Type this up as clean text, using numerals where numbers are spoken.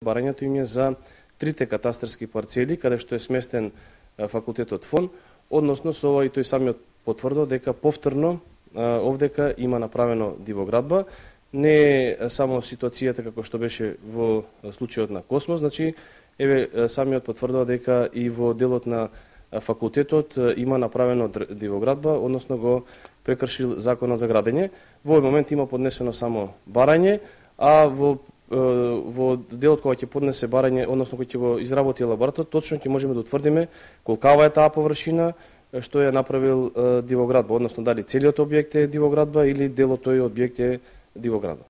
Барањето им е за трите катастарски парцели каде што е сместен факултетот ФОН, односно со ова и тој самиот потврдил дека повторно овдека има направено дивоградба. Не е само ситуацијата како што беше во случајот на Космос, значи еве самиот потврдува дека и во делот на факултетот има направено дивоградба, односно го прекршил законот за градење. Во овој момент има поднесено само барање, а во делот кога ќе поднесе барање, односно кој ќе го изработи елаборатот, точно ќе можеме да утврдиме колкава е таа површина што е направил дивоградба, односно дали целиот објект е дивоградба или делот тој објект е дивоградба.